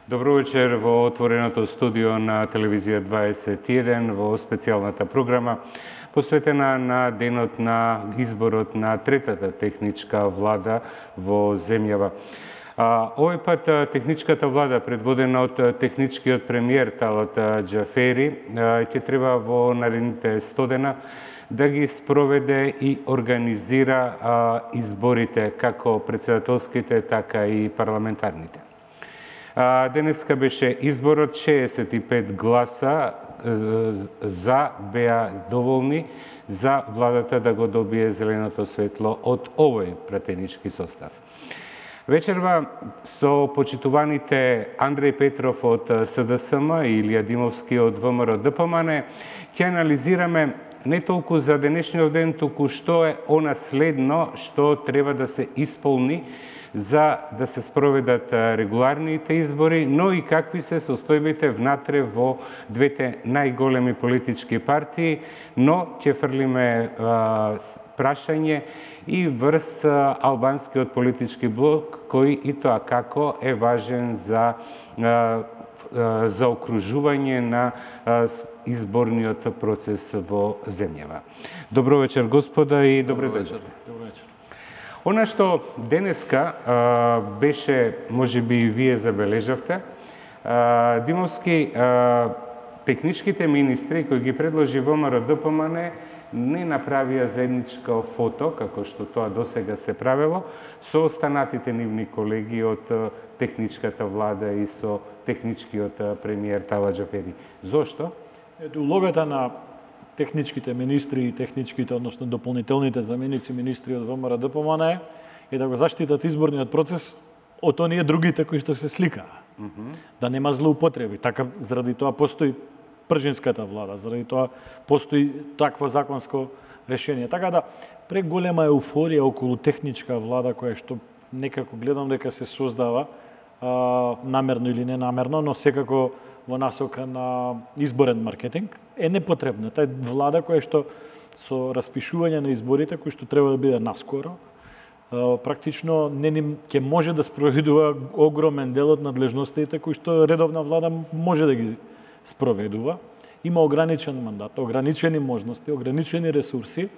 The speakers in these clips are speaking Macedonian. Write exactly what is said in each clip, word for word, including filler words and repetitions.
Добро вечер во отвореното студио на телевизија дваесет и еден во специјалната програма посветена на денот на изборот на третата техничка влада во земјава. А, овој пат техничката влада, предводена од техничкиот премиер Талат Џафери, ќе треба во наредните сто дена да ги спроведе и организира а, изборите, како председателските, така и парламентарните. А, денеска беше изборот, шеесет и пет гласа за беа доволни за владата да го добие зеленото светло од овој пратенички состав. Вечерва со почитуваните Андреј Петров од СДСМ и Илија Димовски од ВМРО ДПМН ќе анализираме не толку за денешниот ден, туку што е она следно што треба да се исполни за да се спроведат регуларните избори, но и какви се состојбите внатре во двете најголеми политички партии, но ќе фрлиме а, прашање и врз а, албанскиот политички блок, кој и тоа како е важен за а, за окружување на изборниот процес во земјава. Добро вечер, господа, и добро вечер. Добро вечер. Она што денеска а, беше, можеби и вие забележавте, а, Димовски, а, техничките министри кои ги предложи ВМРО ДПМН не направија заедничко фото, како што тоа досега се правело, со останатите нивни колеги од техничката влада и со техничкиот премиер Талат Џафери. Зошто? Ето, улогата на техничките министри и техничките, односно дополнителните заменици министри од ВМРО ДПМН е, е да го заштитат изборниот процес од оние другите кои што се сликаа. Mm -hmm. Да нема злоупотреби. Така, заради тоа постои пржинската влада, заради тоа постои такво законско решение. Така да, преголема еуфорија околу техничка влада која што некако гледам дека се создава, а, намерно или ненамерно, но секако во насока на изборен маркетинг, е непотребна. Тај влада која што со распишување на изборите, кои што треба да биде наскоро, практично не ним ќе може да спроведува огромен дел од надлежностите кои што редовна влада може да ги спроведува. Има ограничен мандат, ограничени можности, ограничени ресурси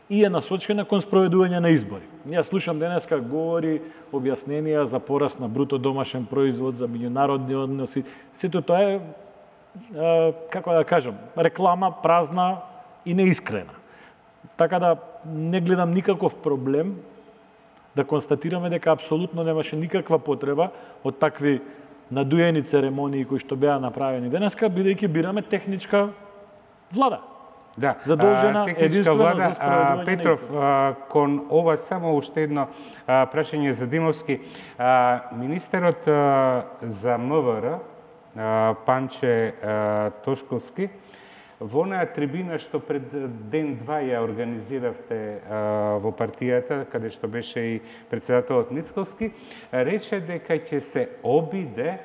и е насочена кон спроведување на избори. Ја слушам денеска говори, објасненија за пораст на бруто домашен производ, за меѓународни односи. Сето тоа е, е, како да кажам, реклама празна и неискрена. Така да не гледам никаков проблем да констатираме дека апсолутно немаше никаква потреба од такви надуени церемонии кои што беа направени денеска, бидејќи бираме техничка влада. Да, задолжена техничка влада. за спроведување Петров, а, кон ова само уште едно а, прашање за Димовски. А, министерот а, за МВР, а, Панче а, Тошковски, во онаа трибина што пред ден-два ја организиравте а, во партијата, каде што беше и председателот Мицковски, рече дека ќе се обиде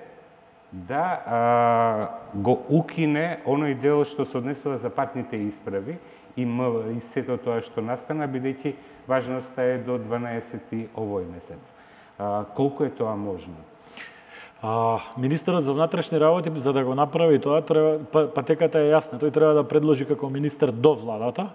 да а, го укине оној дел што се однесува за патните исправи и, м, и сето тоа што настана, бидејќи важноста е до дванаесети овој месец. А, колку е тоа можно? А, министерот за внатрешни работи, за да го направи тоа, треба, патеката е јасна. Тој треба да предложи како министер до владата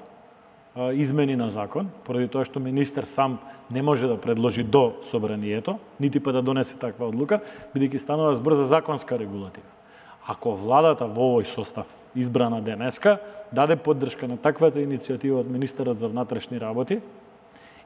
а, измени на закон, поради тоа што министер сам не може да предложи до собранието, нити па да донесе таква одлука, бидејќи станува збор за законска регулатива. Ако владата во овој состав, избрана денеска, даде поддршка на таквата иницијатива од министерот за внатрешни работи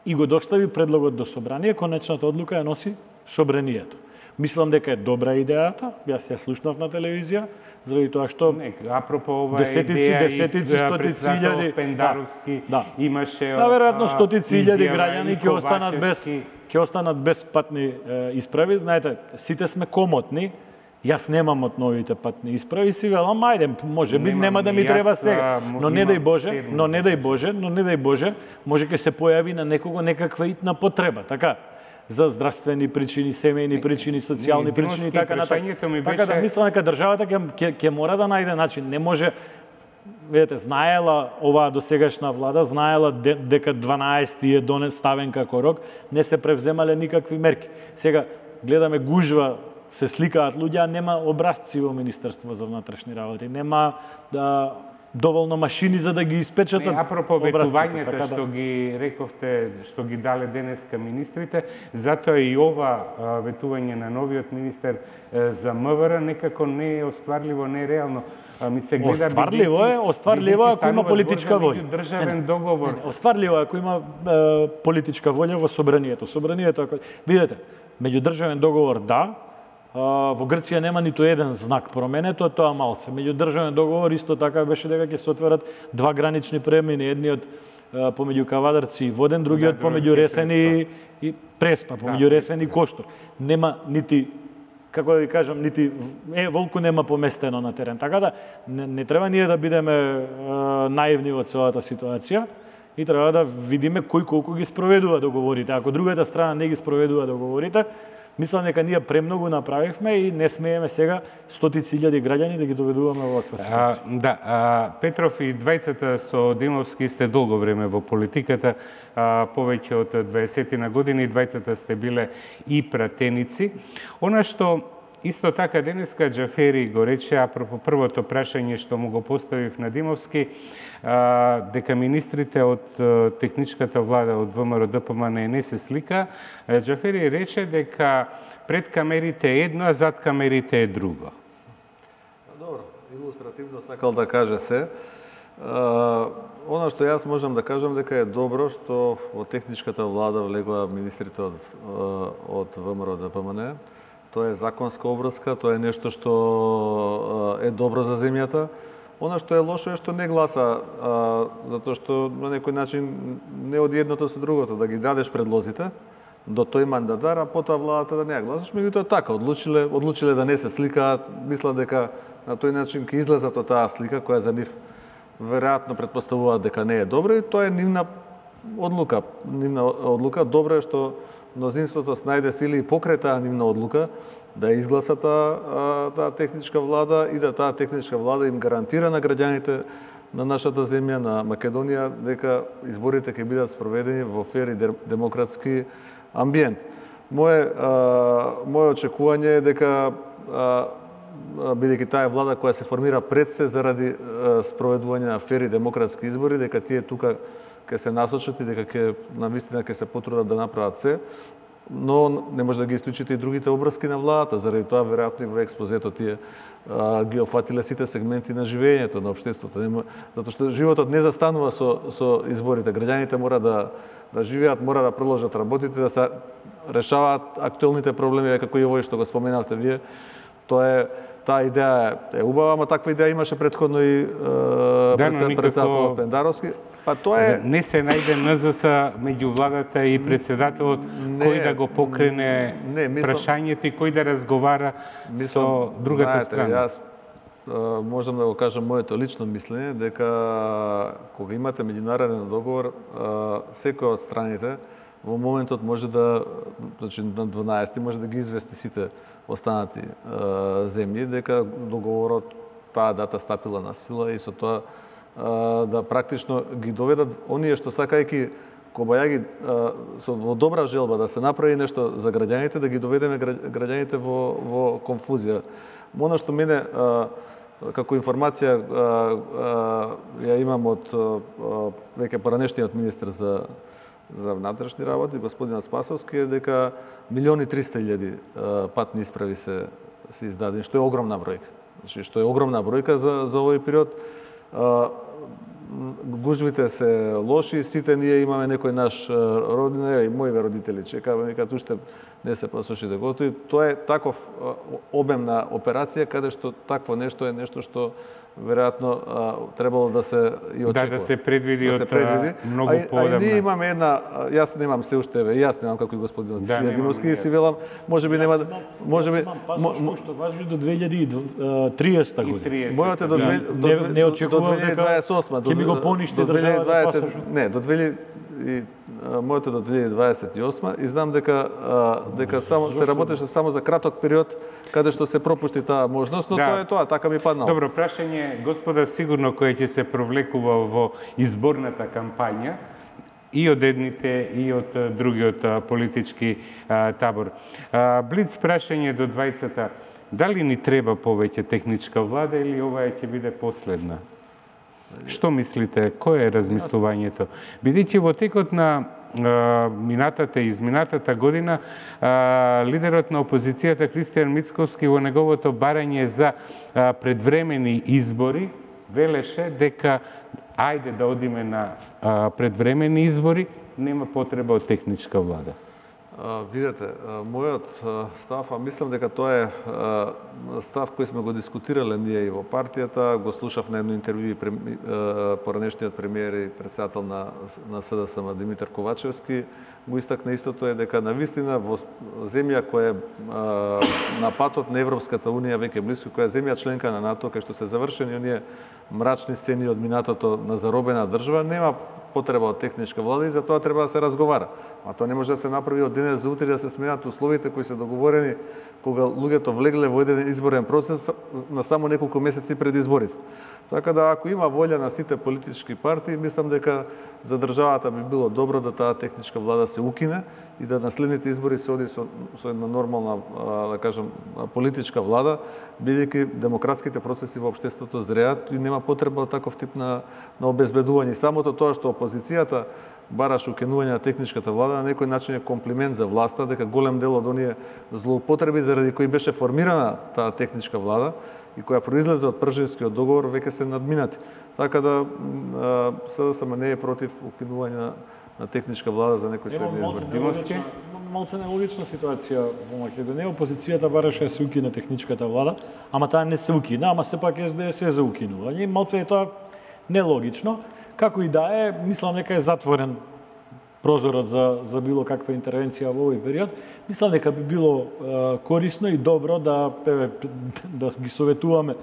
и го достави предлогот до собрание, конечната одлука ја носи собранието. Мислам дека е добра идејата, јас ја слушнав на телевизија, заради тоа што не, апропо оваа десетици, идеја десетици, стотици илјади Пендаровски да, имаше да, веројатно стотици илјади граѓани ќе останат без Ковачевски. ќе останат без патни е, исправи. Знаете, сите сме комотни. Јас немам од новите патни исправи, си велам, ајде, може би нема да ми треба сега. Но не дај Боже, но не дај Боже, но не дај Боже, може ќе се појави на некого некаква итна потреба, така? За здравствени причини, семејни причини, социјални причини и така натаму. Така да мислам дека државата ќе ќе ќе мора да најде начин. Не може, видете, знаела оваа досегашна влада, знаела дека дванаесети е донес ставен како рок, не се превземале никакви мерки. Сега гледаме гужва се сликаат луѓе, нема образци во Министерство за внатрешни работи, нема да доволно машини за да ги испечатат. Не, апропо ветувањата така што да... ги рековте, што ги дале денеска министрите, затоа и ова а, ветување на новиот министер е, за МВР некако не е остварливо, не е реално. А, ми се гледа остварливо е, остварливо ако има политичка волја. Државен договор. Не, не, остварливо е ако има е, политичка волја во собранието. Собранието, ако... видете, меѓудржавен договор да, во Грција нема ниту еден знак променето, тоа малце. Меѓудржавен договор исто така беше дека ќе се отворат два гранични премини, едниот помеѓу Кавадарци и Воден, другиот да, помеѓу Ресен и, и Преспа, помеѓу да, Ресен и Коштур. Нема нити, како да ви кажам, нити е волку нема поместено на терен. Така да не, не треба ние да бидеме е, наивни во целата ситуација и треба да видиме кој колку ги спроведува договорите. Ако другата страна не ги спроведува договорите, мислам дека ние премногу направивме и не смееме сега стотици илјади граѓани да ги доведуваме во оваква ситуација. А, да, а, Петров и двајцата со Демовски сте долго време во политиката, а, повеќе од дваесет години, двајцата сте биле и пратеници. Она што исто така денеска Џафери го рече, апропо првото прашање што му го поставив на Демовски, а, дека министрите од техничката влада од ВМРО Д П М Н не се слика, Џафери рече дека пред камерите е едно, а зад камерите е друго. Добро, илустративно сакал да каже се. А, она што јас можам да кажам дека е добро што во техничката влада влегоа министрите од, од ВМРО Д П М Н. Тоа е законска обврска, тоа е нешто што е добро за земјата. Она што е лошо е што не гласа, а, затоа што на некој начин не од едното со другото, да ги дадеш предлозите до тој мандатар, а потоа владата да не ја гласаш. Меѓутоа така, одлучиле, одлучиле да не се сликаат, мислат дека на тој начин ќе излезат од таа слика, која за нив веројатно претпоставуваат дека не е добра, и тоа е нивна одлука. Нивна одлука. Добро е што мнозинството снајде сили и покрај таа нивна одлука да изгласа таа, таа техничка влада и да таа техничка влада им гарантира на граѓаните на нашата земја, на Македонија, дека изборите ќе бидат спроведени во фер и демократски амбиент. Моje, моje очекување е дека, бидејќи таа е влада која се формира пред се заради спроведување на фер и демократски избори, дека тие тука ќе се насочат и дека ќе навистина ќе се потрудат да направат се, но не може да ги исклучите и другите обврски на владата, заради тоа веројатно и во експозето тие а, ги офатиле сите сегменти на живењето на општеството, затоа што животот не застанува со со изборите. Граѓаните мора да да живеат, мора да продолжат работите, да се решаваат актуелните проблеми, како и овој што го споменавте вие. Тоа е таа идеја е убава, ама таква идеја имаше претходно и да, председател Пендаровски. Па тоа е не се најде Н З С меѓу владата и председателот кој да го покрене не, мислам, прашањето и кој да разговара мислам, со другата знаете, страна. Јас а, можам да го кажам моето лично мислење дека кога имате меѓународен договор, а, секој од страните во моментот може да, значи на дванаесети може да ги извести сите останати а, земји дека договорот таа дата стапила на сила и со тоа да практично ги доведат оние што сакајќи кобајаги со во добра желба да се направи нешто за граѓаните, да ги доведеме граѓаните во во конфузија. Оно што мене како информација ја имам од веќе поранешниот министер за за внатрешни работи, господин Спасовски, е дека милиони и триста илјади патни исправи се се издадени, што е огромна бројка. Значи што е огромна бројка за за овој период. Гужвите се лоши, сите ние имаме некој наш родина и мои родители чекаат, викаат уште не се пасошите готови. Тоа е таков обемна операција каде што такво нешто е нешто што веројатно требало да се и очекува. Да, да се предвиди да од се предвиди. многу а, поодамна. А и ние имаме една, јас немам се уште, јас немам како и господинот да, Сијадиновски и си велам, можеби нема можеби имам пасош што важи до две илјади и триесета година. Мојот е до да. до не, не очекував до две илјади дваесет и осма, ќе ми го поништи до државата дваесет, пасош. не, до две илјади и моето до две илјади дваесет и осма и знам дека дека само се работеше само за краток период каде што се пропушти таа можност, но да. Тоа е тоа, така ми паднало. Добро прашање, господа, сигурно кој ќе се провлекува во изборната кампања, и од едните и од другиот политички табор. Блиц прашање до двајцата. Дали ни треба повеќе техничка влада или оваа ќе биде последна? Што мислите? Кој е размислувањето? Бидејќи во текот на минатата и изминатата година лидерот на опозицијата Христијан Мицковски во неговото барање за предвремени избори велеше дека ајде да одиме на предвремени избори, нема потреба од техничка влада. А, видете, мојот став, а мислам дека тоа е став кој сме го дискутирале ние и во партијата, го слушав на едно интервју и поранешниот премиер и председател на, на СДСМ Димитар Ковачевски го истакна истото е дека навистина во земја која е на патот на Европската унија веќе близко, која е земја членка на НАТО, кај што се завршени оние мрачни сцени од минатото на заробена држава, нема потреба од техничка влада и за тоа треба да се разговара. А тоа не може да се направи од денес за утре, да се сменат условите кои се договорени кога луѓето влегле во еден изборен процес на само неколку месеци пред изборите. Така да, ако има волја на сите политички партии, мислам дека за државата би било добро да таа техничка влада се укине и да на следните избори се оди со, со една нормална, да кажем, политичка влада, бидејќи демократските процеси во општеството зреат и нема потреба од таков тип на, на обезбедување. Самото тоа што опозицијата бараш укинување на техничката влада на некој начин е комплимент за власта, дека голем дел од оние злоупотреби заради кои беше формирана таа техничка влада и која произлезе од Пржевскиот договор веќе се надминати. Така да СДСМ не е против укинување на, на техничка влада за некој следни избори. Малце нелогична ситуација во Македонија. Опозицијата бараше да се укине техничката влада, ама таа не се укина, ама сепак СДС е за укинување. Малце е тоа нелогично. Како и да е, мислам дека е затворен прозорот за, за било каква интервенција во овој период. Мислам дека би било е, корисно и добро да, да ги советуваме е,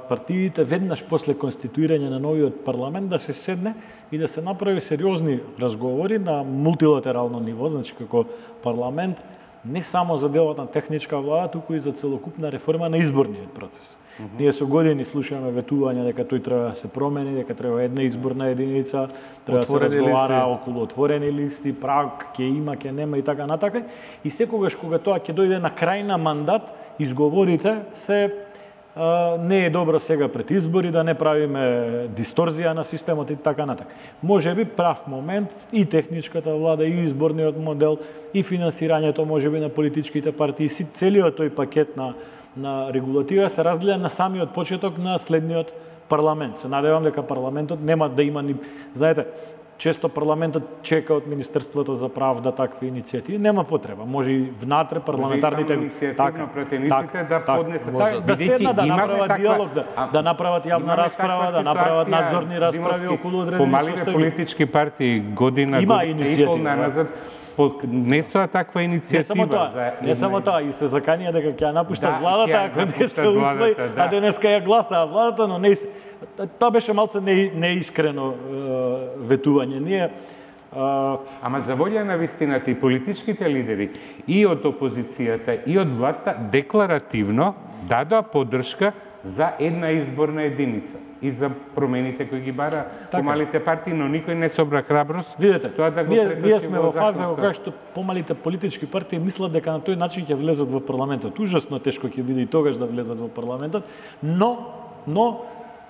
партиите веднаш после конституирање на новиот парламент да се седне и да се направи сериозни разговори на мултилатерално ниво, значи како парламент, не само за делот на техничка влада, туку и за целокупна реформа на изборниот процес. Mm -hmm. Ние со години слушаме ветувања дека тој треба да се промени, дека треба една изборна единица, треба да се разговара листи околу отворени листи, праг, ќе има, ќе нема и така натака. И секогаш кога тоа ќе дојде на крај на мандат, изговорите се а, не е добро сега пред избори да не правиме дисторзија на системот и така натака. Можеби прав момент и техничката влада, и изборниот модел, и финансирањето можеби на политичките партии, целиот тој пакет на на регулатива се разгледа на самиот почеток на следниот парламент. Се надевам дека парламентот нема да има ни... Знаете, често парламентот чека од Министерството за правда такви иницијативи. Нема потреба. Може и внатре парламентарните... Може и само иницијативно претениците да поднесат. Да, да седнат, да направат таква... диалог, да, да направат јавна расправа, да направат надзорни расправи околу одредени помалите состојби. Политички партии година, има година и пол назад поднесоа таква иницијатива. Не само тоа, за не само тоа, и се заканија дека ќе ја напуштат да, владата ако не се усвои, да. А денеска ја гласаа владата, но не се... Тоа беше малце не, неискрено е, ветување. Ние а... Ама за волја на вистината и политичките лидери и од опозицијата и од власта декларативно дадоа поддршка за една изборна единица и за промените кои ги бара така. Помалите партии, но никој не собра храброст. Видете, тоа да го ние, ние сме во фаза во која што помалите политички партии мислат дека на тој начин ќе влезат во парламентот. Ужасно тешко ќе биде и тогаш да влезат во парламентот, но но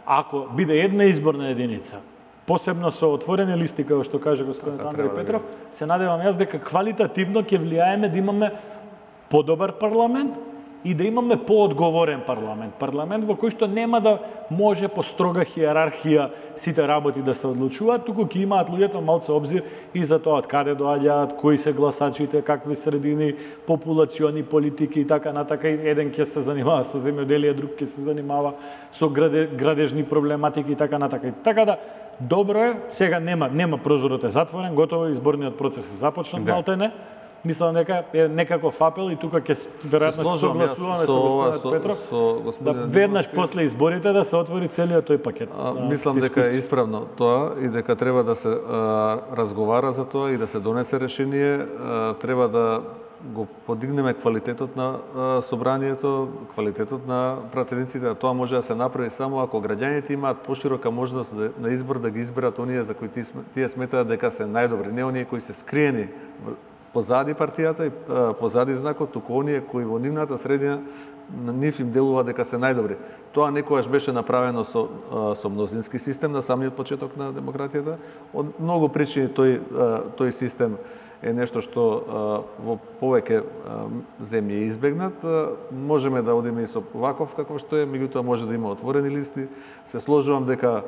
ако биде една изборна единица, посебно со отворени листи, како што каже господин така, Андреј Петров, се надевам јас дека квалитативно ќе влијаеме да имаме подобар парламент и да имаме поодговорен парламент. Парламент во кој што нема да може по строга хиерархија сите работи да се одлучуваат, туку ќе имаат луѓето малце обзир и за тоа од каде доаѓаат, кои се гласачите, какви средини, популациони политики и така натака. Еден ќе се занимава со земјоделие, друг ќе се занимава со граде, градежни проблематики и така натака. Така да добро е, сега нема нема прозорот е затворен, готово изборниот процес е започнат, да. Малтене. Мислам дека е некаков апел и тука ќе веројатно се согласуваме со господинот Петров со, со да веднаш после изборите да се отвори целиот тој пакет. А, мислам дека е исправно тоа и дека треба да се а, разговара за тоа и да се донесе решение, а, треба да го подигнеме квалитетот на собранието, квалитетот на пратениците, тоа може да се направи само ако граѓаните имаат поширока можност на избор да ги изберат оние за кои тие сметаат дека се најдобри, не оние кои се скриени позади партијата и позади знакот, туку оние кои во нивната средина на нив им делува дека се најдобри. Тоа некогаш беше направено со, со мнозински систем на самиот почеток на демократијата. Од многу причини тој, тој систем е нешто што во повеќе земји е избегнат. Можеме да одиме и со ваков каков што е, меѓутоа може да има отворени листи. Се сложувам дека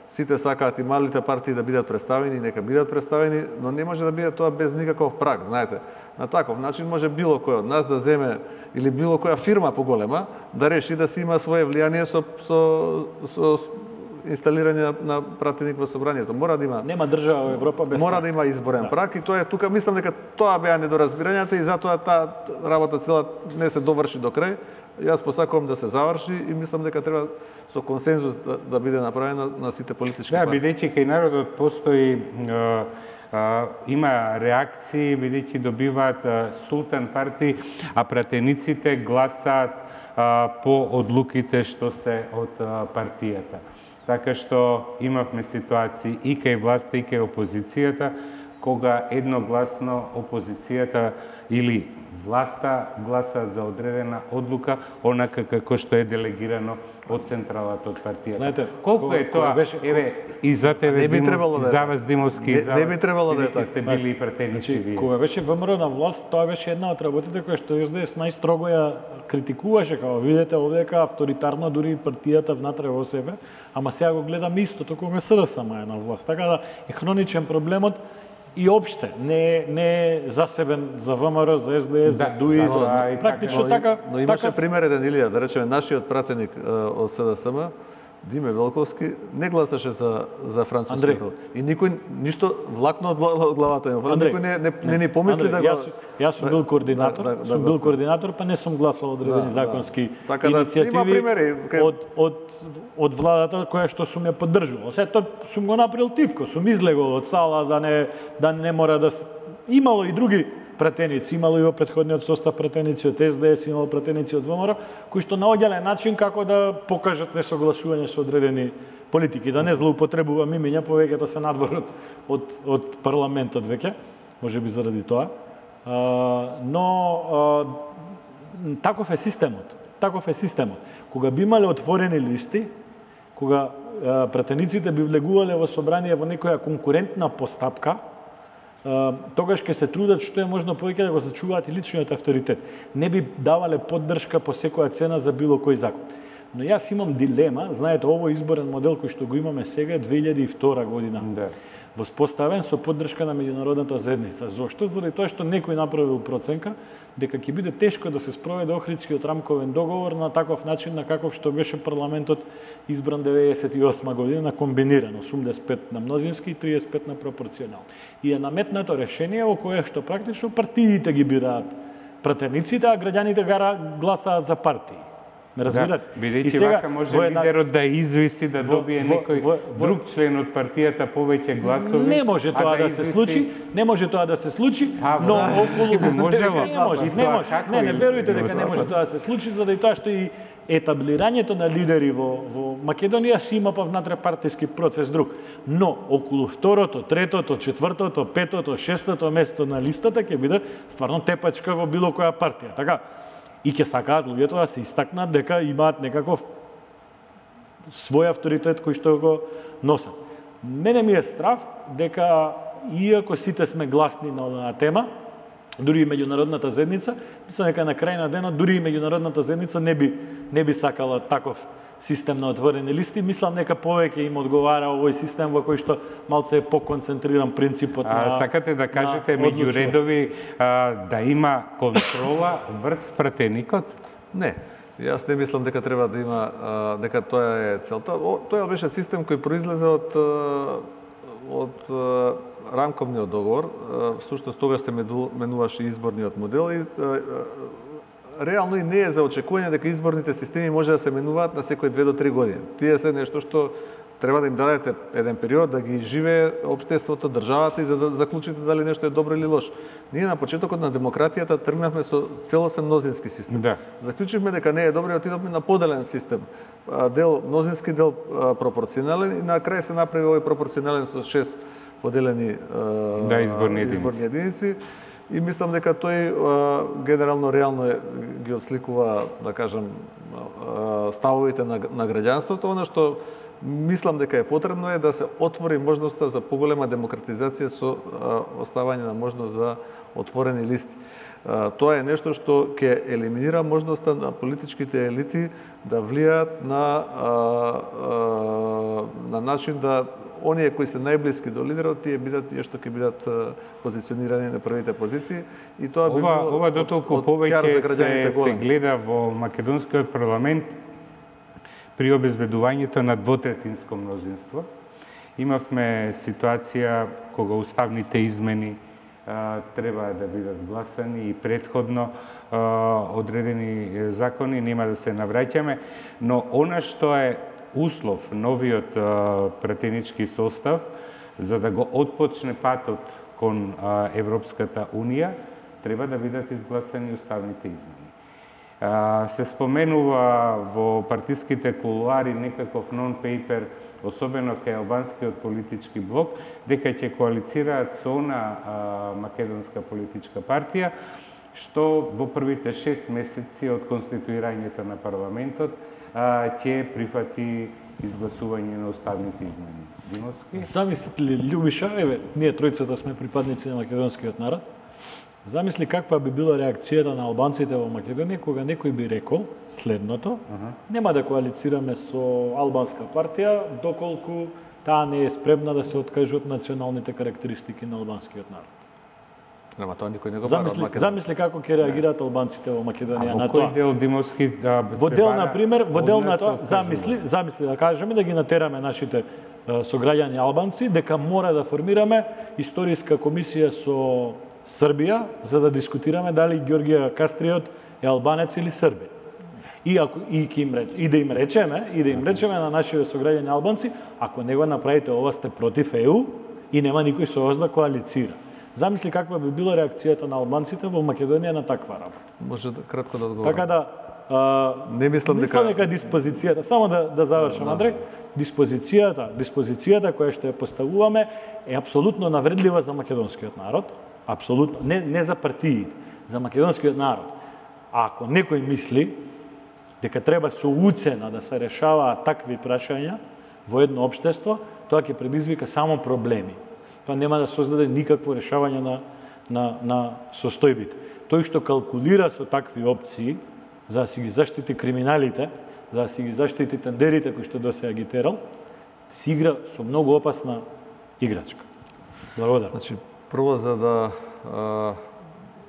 сите сакаат и малите партии да бидат представени, нека бидат представени, но не може да биде тоа без никаков праг, знаете. На таков начин може било кој од нас да земе или било која фирма поголема да реши да си има свое влијание со со со инсталирање на пратеник во собранието. Мора да има Нема држава во Европа без Мора праг. да има изборен Да. праг и тоа е тука, мислам дека тоа беа недоразбирањата и затоа таа работа цела не се доврши до крај. Јас посакувам да се заврши и мислам дека треба со консензус да, да биде направена на сите политички Да, партии. бидејќи кај народот постои а, а, има реакции, бидејќи добиваат а, султан партии, а пратениците гласаат а, по одлуките што се од а, партијата. Така што имавме ситуации и кај власта и кај опозицијата, кога едногласно опозицијата или власта гласаат за одредена одлука, онака како што е делегирано од централата од партијата. Знаете, колку кога- е тоа? кога беше- Еве, и за тебе, Не би Димов, требало и да е за така. вас, Димовски, и Не- за не вас, би требало да е бидејќи така. сте били и пратеници Значи, вие. кога беше ВМРО на власт, тоа беше една од работите која што Ес Де Ес најстрого ја критикуваше, како видите овдека авторитарно дури и партијата внатре во себе, ама сега го гледам истото кога С Д С М е на власт. Така да е хроничен проблемот и опште, не е не е засебен за ВМРО, за Ес Де Ес, за Да, ДУИ, за- за и практично Но, така, но имаше така пример еден Илија, да речеме нашиот пратеник е, од С Д С М, Диме Велковски, не гласаше за за француски Андреј. народ. И никој ништо влакно од глава- од главата им. Андреј, Никој не не, не ни помисли Андреј, да го Јас, јас сум бил координатор, да, да, сум да, бил да. координатор, па не сум гласал одредени Да, законски да. Така да, иницијативи има примери, кај- од од од владата која што сум ја поддржувал. Се тоа сум го направил тивко, сум излегол од сала да не да не мора да с- имало и други пратеници, имало и во претходниот состав пратеници од Ес Де Ес, имало пратеници од ВМРО, кои што наоѓале начин како да покажат несогласување со одредени политики, да не злоупотребува имиња, повеќето се надвор од, од, од парламентот веќе, може би заради тоа. А, но а, таков е системот. Таков е системот. Кога би имале отворени листи, кога а, пратениците би влегувале во собрание во некоја конкурентна постапка, а, тогаш ќе се трудат што е можно повеќе да го зачуваат и личниот авторитет. Не би давале поддршка по секоја цена за било кој закон. Но јас имам дилема, знаете, овој изборен модел кој што го имаме сега е две илјади и втора година. Да. Воспоставен со поддршка на меѓународната заедница. Зошто? Заради тоа што некој направил проценка дека ќе биде тешко да се спроведе Охридскиот рамковен договор на таков начин на каков што беше парламентот избран деветдесет и осма година на комбинирано, осумдесет и пет на мнозински и триесет и пет на пропорционално. И е наметнато решение во кое што практично партиите ги бираат пратениците, а граѓаните гласаат за партии. Ме разбирате? Да, бидејќи вака може во една- лидерот да извиси да во- добие во- некој во- во- друг член од партијата повеќе гласови. Не може а тоа да, се извиси- случи, не може тоа да се случи, Па, но да. околу Би можело. не може, не Тоа може. како Не, не и- верујте и дека не во може тоа да се случи заради тоа што и етаблирањето на лидери во во Македонија си има па внатре партиски процес друг. Но околу второто, третото, четвртото, петото, шестото место на листата ќе биде стварно тепачка во било која партија. Така, и ќе сакаат луѓето да се истакнат дека имаат некаков свој авторитет кој што го носат. Мене ми е страв дека иако сите сме гласни на оваа тема, дури и меѓународната заедница, мислам дека на крај на денот дури и меѓународната заедница не би не би сакала таков систем на отворени листи. Мислам дека повеќе им одговара овој систем во кој што малце е поконцентриран принципот А, на сакате да кажете на меѓу одлучување. редови а, да има контрола врз пратеникот? Не. Јас не мислам дека треба да има, а, дека тоа е целта. О, тоа беше систем кој произлезе од а, од а, рамковниот договор. А, всушност тогаш се меду- менуваше изборниот модел и а, а, реално и не е за очекување дека изборните системи може да се менуваат на секој две до три години. Тие се нешто што треба да им дадете еден период да ги живее општеството, државата и за да заклучите дали нешто е добро или лошо. Ние на почетокот на демократијата тргнавме со целосен мнозински систем. Да. Заклучивме дека не е добро и отидовме на поделен систем. Дел мнозински, дел пропорционален и на крај се направи овој пропорционален со шест поделени да, изборни единици. изборни единици. И мислам дека тој генерално реално е, ги отсликува, да кажам, ставовите на, на граѓанството. Она што мислам дека е потребно е да се отвори можноста за поголема демократизација со оставање на можност за отворени листи. Тоа е нешто што ќе елиминира можноста на политичките елити да влијаат на на начин да оние кои се најблиски до лидерот, тие бидат тие што ќе бидат позиционирани на првите позиции и тоа би ова било ова дотолку повеќе се, се гледа во македонскиот парламент при обезбедувањето на двотретинско мнозинство. Имавме ситуација кога уставните измени а, треба да бидат гласани и претходно а, одредени закони, нема да се навраќаме, но она што е услов новиот а, пратенички состав за да го отпочне патот кон а, Европската Унија, треба да бидат изгласани уставните измени. А, се споменува во партиските кулуари некаков нон-пейпер, особено кај албанскиот политички блок, дека ќе коалицираат со она а, македонска политичка партија, што во првите шест месеци од конституирањето на парламентот ќе прифати изгласување на уставните измени. Димовски? Замислите ли, Љубиша, еве, ние тројцата сме припадници на македонскиот народ, замисли каква би била реакцијата на албанците во Македонија кога некој би рекол следното: uh-huh. нема да коалицираме со албанска партија доколку таа не е спремна да се откаже од националните карактеристики на албанскиот народ. Нема тоа никој не го бара од Македонија. Замисли како ќе реагираат албанците во Македонија на тоа. А во кој дел Димовски да во дел на пример, во дел на тоа, замисли, замисли да кажеме да ги натераме нашите сограѓани албанци дека мора да формираме историска комисија со Србија за да дискутираме дали Ѓорѓе Кастриот е албанец или србин. И ако и ќе им реч, и да им речеме, и да им речеме на нашите сограѓани албанци, ако не го направите ова сте против Е У и нема никој со вас да коалицира. Замисли каква би била реакцијата на албанците во Македонија на таква работа. Може да кратко да одговорам. Така да а, не мислам мислам дека дека диспозицијата, само да да завршам, да, Андреј, диспозицијата, диспозицијата која што ја поставуваме е апсолутно навредлива за македонскиот народ, апсолутно, не не за партиите, за македонскиот народ. А ако некој мисли дека треба со уцена да се решаваат такви прашања во едно општество, тоа ќе предизвика само проблеми. Тоа нема да создаде никакво решавање на, на, на состојбите. Тој што калкулира со такви опции, за да си ги заштити криминалите, за да си ги заштити тендерите кои што досега ги терал, си игра со многу опасна играчка. Благодарам. Значи, прво за да а,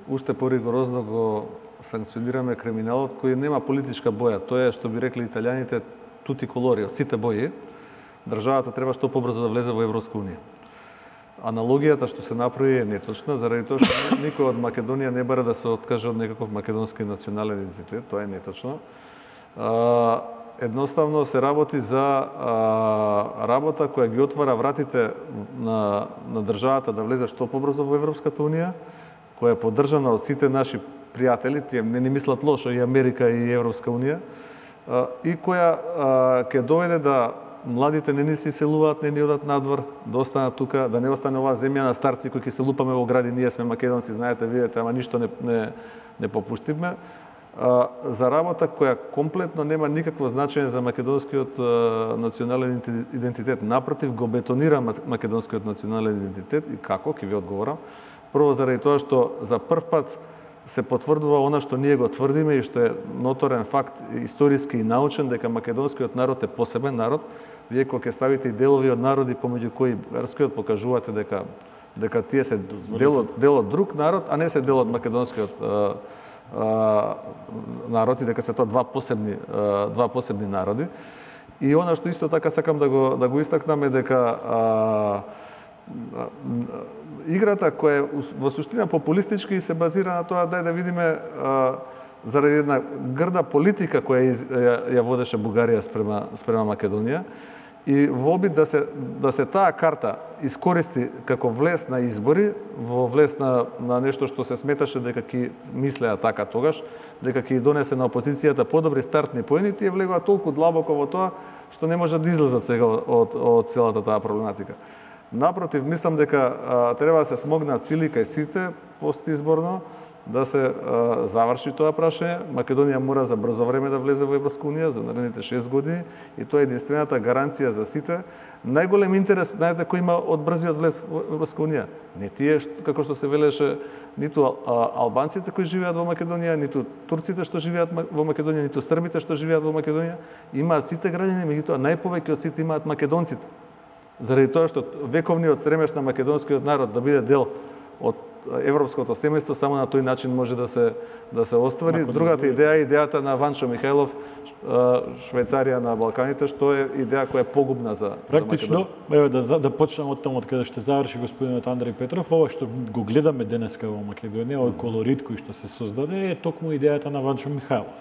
уште поригорозно го санкционираме криминалот кој нема политичка боја. Тоа е што би рекли италијаните тути колори, од сите бои. Државата треба што побрзо да влезе во Европска унија. Аналогијата што се направи е неточна, заради тоа што никој од Македонија не бара да се откаже од некаков македонски национален идентитет, тоа е неточно. А, едноставно се работи за а, работа која ги отвара вратите на, на државата да влезе што побрзо во Европската унија, која е поддржана од сите наши пријатели, тие не ни мислат лошо, и Америка и Европска унија, а, и која а, ќе доведе да младите не ни се иселуваат, не ни одат надвор, да останат тука, да не остане оваа земја на старци кои ќе се лупаме во гради, ние сме македонци, знаете, видите, ама ништо не, не, не попуштиме. А, за работа која комплетно нема никакво значење за македонскиот а, национален идентитет. Напротив, го бетонира македонскиот национален идентитет и како, ќе ви одговорам. Прво заради тоа што за прв пат се потврдува она што ние го тврдиме и што е ноторен факт историски и научен, дека македонскиот народ е посебен народ. Вие кога ќе ставите и делови од народи помеѓу кои верскиот покажувате дека дека тие се дел од, дел од друг народ, а не се дел од македонскиот а, а, народ и дека се тоа два посебни а, два посебни народи. И она што исто така сакам да го да го истакнам е дека а, играта која во суштина популистички се базира на тоа дај да видиме а, заради една грда политика која из, ја, ја водеше Бугарија спрема спрема Македонија и во обид да се да се таа карта искористи како влез на избори, во влез на на нешто што се сметаше дека ќе мислеа така тогаш, дека ќе донесе на опозицијата подобри стартни поени, тие влегоа толку длабоко во тоа што не може да излезат сега од од целата таа проблематика. Напротив, мислам дека а, треба да се смогнат сили кај сите постизборно да се а, заврши тоа прашање. Македонија мора за брзо време да влезе во Европска унија за наредните шест години и тоа е единствената гаранција за сите. Најголем интерес, знаете, кој има од брзиот влез во Европска унија? Не тие, како што се велеше, ниту а, албанците кои живеат во Македонија, ниту турците што живеат во Македонија, ниту србите што живеат во Македонија. Имаат сите граѓани, меѓутоа најповеќе од сите имаат македонците. Заради тоа што вековниот стремеж на македонскиот народ да биде дел од европското семејство, само на тој начин може да се да се оствари. Другата идеја е идејата на Ванчо Михајлов, Швајцарија на Балканите, што е идеја која е погубна за практично, еве да да почнем од таму од каде што заврши господинот Андреј Петров, ова што го гледаме денеска во Македонија, овој колорит кој што се создаде е токму идејата на Ванчо Михајлов.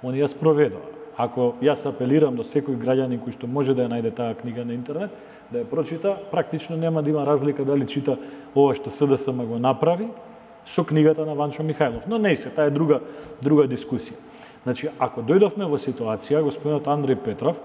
Он ја спроведува. Ако јас апелирам до секој граѓанин кој што може да ја најде таа книга на интернет, да ја прочита, практично нема да има разлика дали чита ова што СДСМ го направи со книгата на Ванчо Михајлов. Но не се, таа е друга друга дискусија. Значи, ако дојдовме во ситуација, господинот Андреј Петров,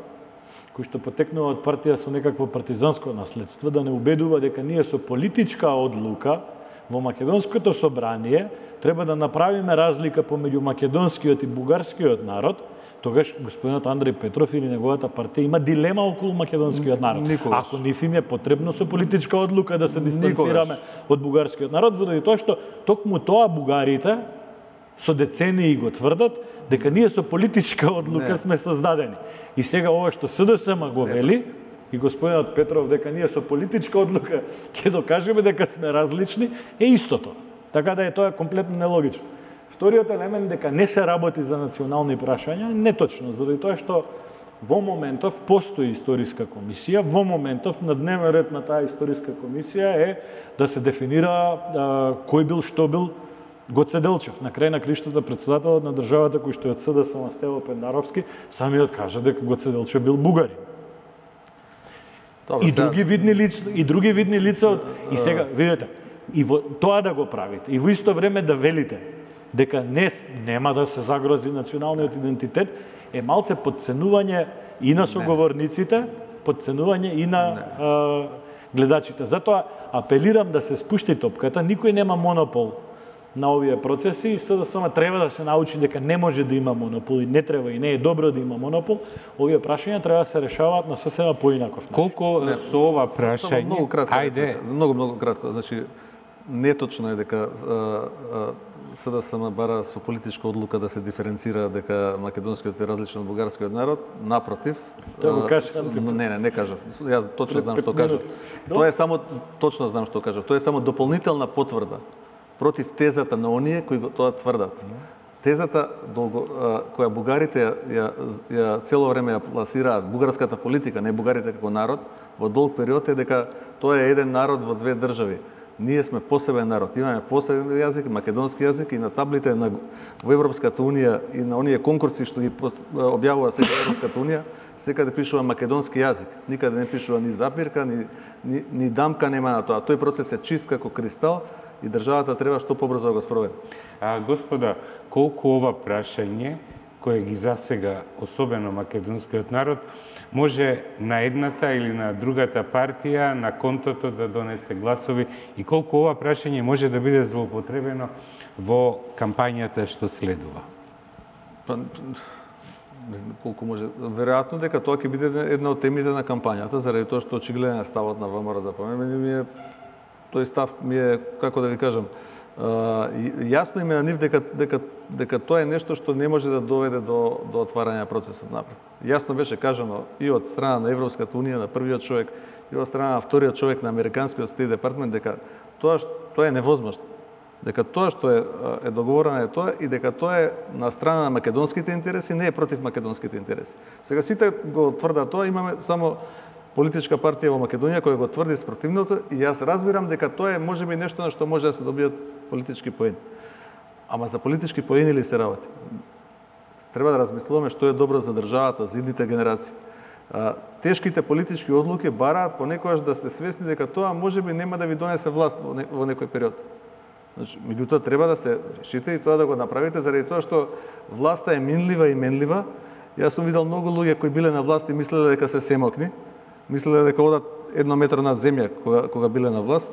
кој што потекнува од партија со некакво партизанско наследство, да не убедува дека ние со политичка одлука во Македонското собрание треба да направиме разлика помеѓу македонскиот и бугарскиот народ, тогаш господинот Андреј Петров или неговата партија има дилема околу македонскиот народ. Никогаш. Ако нив им е потребно со политичка одлука да се дистанцираме Никогаш. од бугарскиот народ, заради тоа што токму тоа бугарите со децении го тврдат дека ние со политичка одлука не. сме создадени. И сега ова што СДСМ го вели и господинот Петров дека ние со политичка одлука ќе докажеме дека сме различни, е истото. Така да е тоа комплетно нелогично. Вториот елемент дека не се работи за национални прашања е неточно, заради тоа што во моментов постои историска комисија, во моментов на дневен ред на таа историска комисија е да се дефинира а, кој бил, што бил Гоце Делчев. На крај на криштата председателот на државата кој што е од СДСМ Стево Пендаровски самиот кажа дека Гоце Делчев бил бугарин. Добре, и други видни лица, и други видни лица и сега видите, и во тоа да го правите, и во исто време да велите дека не нема да се загрози националниот идентитет, е малце подценување и на соговорниците, подценување и на а, гледачите. Затоа апелирам да се спушти топката, никој нема монопол на овие процеси и СДСМ треба да се научи дека не може да има монопол и не треба и не е добро да има монопол. Овие прашања треба да се решаваат на сосема поинаков начин. Колку не, со ова прашање? Многу кратко. Ајде. Многу многу кратко. Значи неточно е дека СДСМ бара со политичка одлука да се диференцира дека македонскиот е различен од бугарскиот народ. Напротив, тоа го кажа. Не, не, не кажав. Јас точно знам што кажав. Тоа е само точно знам што кажав. Тоа е само дополнителна потврда против тезата на оние кои тоа тврдат. Тезата долго, која бугарите ја, ја, ја цело време ја пласираат, бугарската политика, не бугарите како народ, во долг период е дека тоа е еден народ во две држави. Ние сме посебен народ, имаме посебен јазик, македонски јазик и на таблите на, во Европската унија и на оние конкурси што ги објавува сега Европската унија, секаде пишува македонски јазик. Никаде не пишува ни запирка, ни, ни, ни дамка нема на тоа. Тој процес е чист како кристал и државата треба што побрзо да го спроведе. А, господа, колку ова прашање, кое ги засега особено македонскиот народ, може на едната или на другата партија на контото да донесе гласови и колку ова прашање може да биде злоупотребено во кампањата што следува? Па, колку може, веројатно дека тоа ќе биде една од темите на кампањата, заради тоа што очигледен е ставот на ВМРО да помине, ми е тој став ми е, како да ви кажам, јасно им е на нив дека, дека, дека тоа е нешто што не може да доведе до, до отварање процесот напред. Јасно беше кажано и од страна на Европската унија, на првиот човек, и од страна на вториот човек на Американскиот Стейт Департмент, дека тоа, тоа е невозможно. Дека тоа што е, е договорено е тоа и дека тоа е на страна на македонските интереси, не е против македонските интереси. Сега сите го тврдат тоа, имаме само политичка партија во Македонија која го тврди спротивното и јас разбирам дека тоа е можеби нешто на што може да се добијат политички поени. Ама за политички поени ли се работи? Треба да размислуваме што е добро за државата, за идните генерации. Тешките политички одлуки бараат понекогаш да сте свесни дека тоа можеби нема да ви донесе власт во, не, во некој период. Значи, меѓутоа треба да се решите и тоа да го направите заради тоа што власта е минлива и менлива. Јас сум видел многу луѓе кои биле на власт и мислеле дека се семокни, мислеле дека одат едно метро над земја кога, кога биле на власт,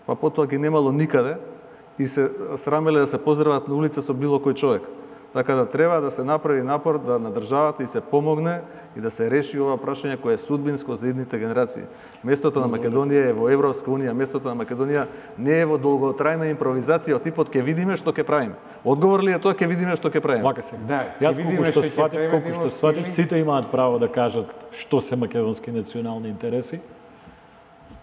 па потоа ги немало никаде и се срамеле да се поздрават на улица со било кој човек. Така да треба да се направи напор да на државата и се помогне и да се реши ова прашање кое е судбинско за идните генерации. Местото на Македонија е во Европска унија, местото на Македонија не е во долготрајна импровизација од типот ќе видиме што ќе правиме. Одговор ли е тоа ќе видиме што ќе правиме? Вака се. Да, јас колку што сватив, колку што сватив, сите имаат право да кажат што се македонски национални интереси.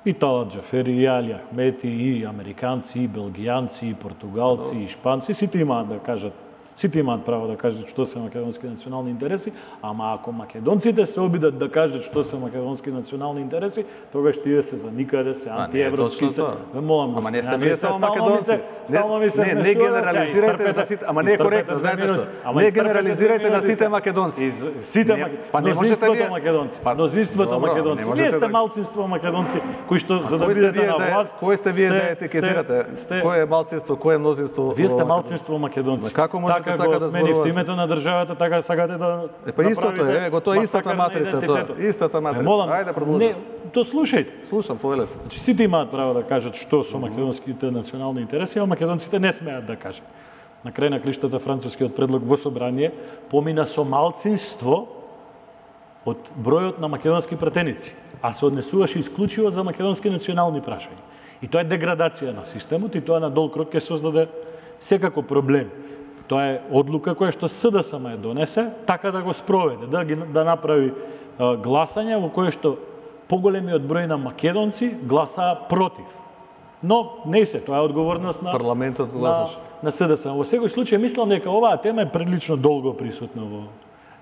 И Талат Џафери, и Али Ахмети, и американци, и белгијанци, и португалци, и шпанци, сите имаат да кажат Сите имаат право да кажат што се македонски национални интереси, ама ако македонците се обидат да кажат што се македонски национални интереси, тогаш тие се за никаде, се антиевропски се. Ве молам, ама не сте вие само македонци. Не, не генерализирајте за сите, ама не е коректно, знаете што? Не генерализирајте на сите македонци. Сите мнозинството македонци. Мнозинството македонци. Вие сте малцинство македонци кои што за да бидете на власт. Кој сте вие да етикетирате? Кој е малцинство, кој е мнозинство? Вие сте малцинство македонци. Како можете така така го да сменивте името на државата, така сакате да Е па истото е, го тоа истата матрица тоа, истата матрица. Ајде продолжи. Не, то слушајте. Слушам, повелете. Значи сите имаат право да кажат што со македонските национални интереси, а македонците не смеат да кажат. На крај на клиштата францускиот предлог во собрание помина со малцинство од бројот на македонски пратеници, а се однесуваше исклучиво за македонски национални прашања. И тоа е деградација на системот и тоа на долг рок ќе создаде секако проблем. Тоа е одлука која што СДСМ ја донесе, така да го спроведе, да ги да направи а, гласање во кое што поголемиот број на македонци гласаа против. Но не се, тоа е одговорност на парламентот гласаш. На, на СДСМ. Во секој случај мислам дека оваа тема е прилично долго присутна во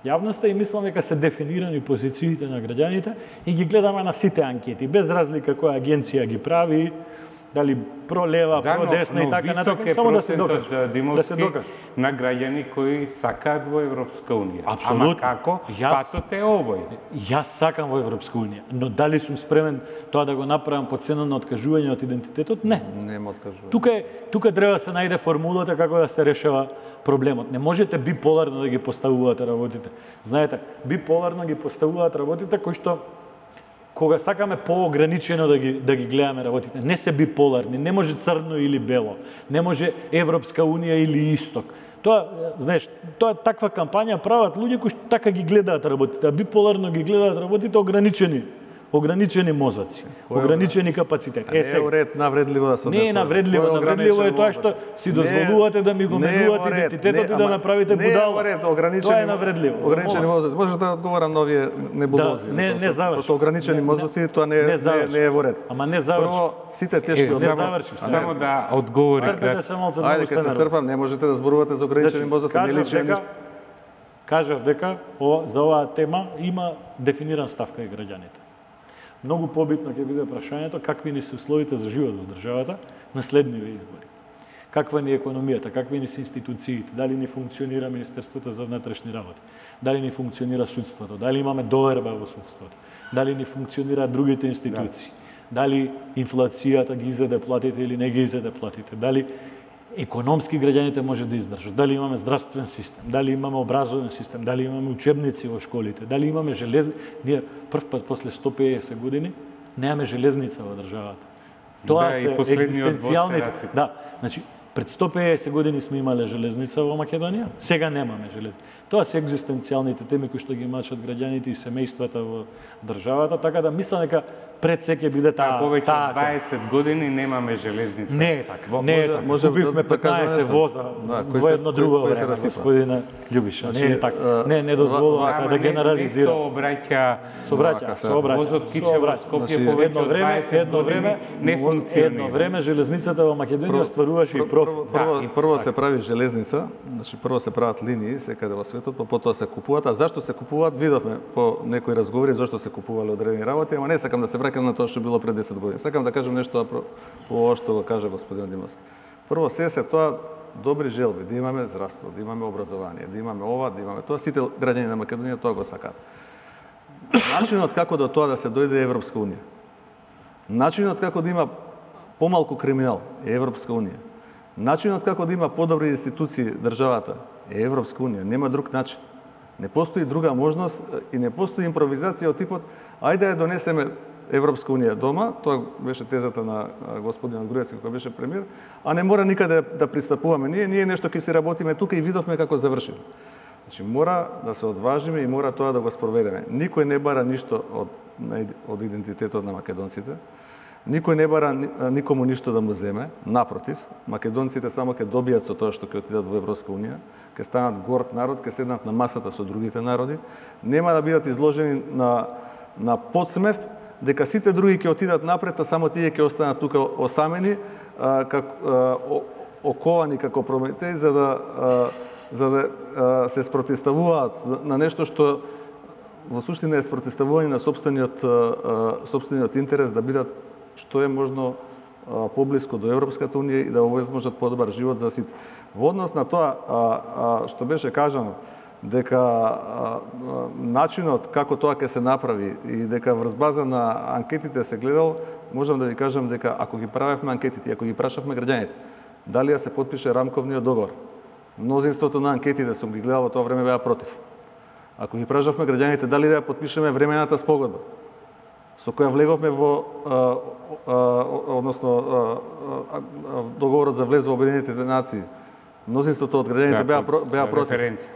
јавноста и мислам дека се дефинирани позициите на граѓаните и ги гледаме на сите анкети, без разлика која агенција ги прави, дали пролева, да, продесна но, и така натака, само да се докаже, да се докаже. На граѓани кои сакаат во Европска унија. Апсолутно. Ама како? Јас, патот е овој. Јас сакам во Европска унија, но дали сум спремен тоа да го направам по цена на откажување од идентитетот? Не. Нема откажување. Тука е, тука треба да се најде формулата како да се решава проблемот. Не можете биполарно да ги поставувате работите. Знаете, биполарно ги поставуваат работите кои што кога сакаме поограничено да ги да ги гледаме работите, не се биполарни, не може црно или бело, не може Европска унија или Исток. Тоа, знаеш, тоа таква кампања прават луѓе кои што така ги гледаат работите, а биполарно ги гледаат работите ограничени. Ограничени мозоци, ограничени капацитети. Е, сега, уред навредливо да се не е навредливо, навредливо е тоа што си дозволувате да ми го менувате идентитетот и да ме правите будала. Не е ограничени. Тоа е навредливо. Ограничени мозоци. Можете да одговорам на овие небулози. Да, не, не заврши. Пошто ограничени мозоци тоа не е не, не е во ред. Ама не заврши. Прво сите тешки не заврши. Само да одговори кратко. Ајде ќе се стрпам, не можете да зборувате за ограничени мозоци, не личи ништо. Кажав дека за оваа тема има дефиниран став кај граѓаните. Многу побитно ќе биде прашањето какви ни се условите за живот во државата на следниве избори. Каква ни е економијата, какви ни се институциите, дали ни функционира Министерството за внатрешни работи, дали ни функционира судството, дали имаме доверба во судството, дали ни функционираат другите институции, дали инфлацијата ги изеде платите или не ги изеде платите, дали економски граѓаните може да издржат, дали имаме здравствен систем, дали имаме образовен систем, дали имаме учебници во школите, дали имаме железни... Ние прв пат после сто и песет години немаме железница во државата. Тоа да, се екзистенцијалните... Да, значи, пред сто и песет години сме имале железница во Македонија, сега немаме железница. Тоа се екзистенцијалните теми кои што ги мачат граѓаните и семејствата во државата, така да мислам дека пред се ќе биде таа повеќе од дваесет години немаме железница. Не е така. Не е така. Купивме петнаесет воза во едно друго време, господине Љубиша. Не е така. Не, не дозволувам се да генерализирам. Не сообраќа, сообраќа, сообраќа. Возот тиче во Скопје повеќе од дваесет години не функционира. Едно време железницата во Македонија стваруваше и профит. Прво, прво се прави железница, значи прво се прават линии секаде во светот, па потоа се купуваат, а зашто се купуваат видовме по некои разговори зашто се купувале одредени работи, ама не сакам да се враќам на тоа што било пред десет години. Сакам да кажам нешто по ова што го кажа господин Димовски. Прво се се тоа добри желби, да имаме здравство, да имаме образование, да имаме ова, да имаме тоа, сите граѓани на Македонија тоа го сакаат. начинот како до тоа да се дојде Европска унија, начинот како да има помалку криминал е Европска унија, начинот како да има подобри институции државата е Европска унија, нема друг начин. Не постои друга можност и не постои импровизација од типот ајде да ја донесеме Европска унија дома, тоа беше тезата на господинот Груевски кој беше премиер, а не мора никаде да пристапуваме ние, ние нешто ќе се работиме тука и видовме како заврши. Значи мора да се одважиме и мора тоа да го спроведеме. Никој не бара ништо од од идентитетот на македонците. Никој не бара никому ништо да му земе, напротив, македонците само ќе добијат со тоа што ќе отидат во Европска унија, ќе станат горд народ, ќе седнат на масата со другите народи, нема да бидат изложени на на подсмев дека сите други ќе отидат напред, а само тие ќе останат тука осамени, а, как а, оковани како Прометеј за да а, за да а, се спротивставуваат на нешто што во суштина е спротивставување на сопствениот а, сопствениот интерес да бидат што е можно а, поблиско до Европската унија и да овозможат подобар живот за сите. Во однос на тоа а, а, што беше кажано дека а, а, начинот како тоа ќе се направи и дека врз база на анкетите се гледал, можам да ви кажам дека ако ги правевме анкетите, ако ги прашавме граѓаните, дали да се потпише рамковниот договор, мнозинството на анкетите сум ги гледал во тоа време беа против. Ако ги прашавме граѓаните дали да ја потпишеме времената спогодба, со која влеговме во а, а, односно а, а, договорот за влез во Обединетите нации, мнозинството од граѓаните беа беа против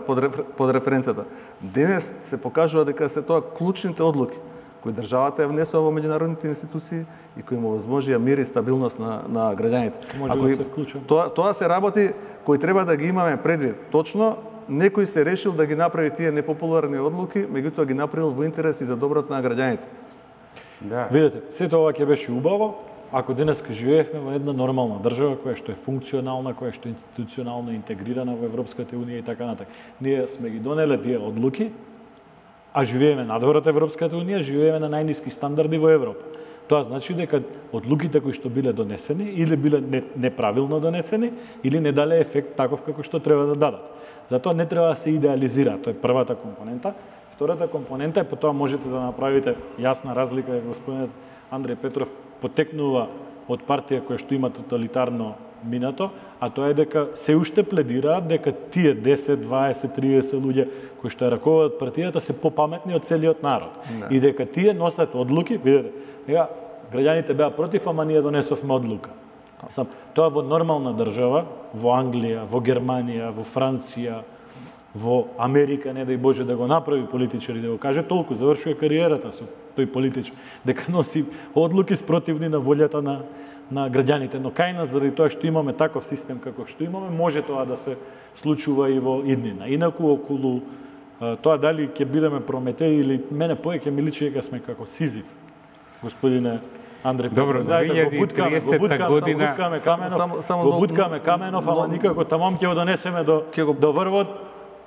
под, под референцата. Денес се покажува дека се тоа клучните одлуки кои државата ја внесува во меѓународните институции и кои му возможија мир и стабилност на на граѓаните. Ако да се вклучам. Тоа тоа се работи кои треба да ги имаме предвид. Точно некој се решил да ги направи тие непопуларни одлуки, меѓутоа ги направил во интерес и за доброто на граѓаните. Да. Видете, сето ова ќе беше убаво ако денеска живеевме во една нормална држава која што е функционална, која што е институционално интегрирана во Европската унија и така натаму. Ние сме ги донеле тие одлуки, а живееме надвор од Европската унија, живееме на најниски стандарди во Европа. Тоа значи дека одлуките кои што биле донесени или биле неправилно донесени или не дале ефект таков како што треба да дадат. Затоа не треба да се идеализира, тоа е првата компонента. Втората компонента е потоа можете да направите јасна разлика, дека господинот Андреј Петров потекнува од партија која што има тоталитарно минато, а тоа е дека се уште пледираат дека тие десет, дваесет, триесет луѓе кои што ја раководат партијата се попаметни од целиот народ. Не. И дека тие носат одлуки, видете, сега граѓаните беа против, ама ние донесовме одлука. Сам, тоа во нормална држава, во Англија, во Германија, во Франција, во Америка, не дај Боже да го направи политичар и да го каже толку, завршува кариерата со тој политичар, дека носи одлуки спротивни на волјата на на граѓаните, но кај нас заради тоа што имаме таков систем како што имаме, може тоа да се случува и во иднина. Инаку околу тоа дали ќе бидеме Прометеј или мене повеќе ми личи дека сме како Сизиф, господине Андреј Петров. Добро, две илјади и триесета година го буткаме Каменов, го буткаме Каменов, ама никако тамам ќе го донесеме до до врвот.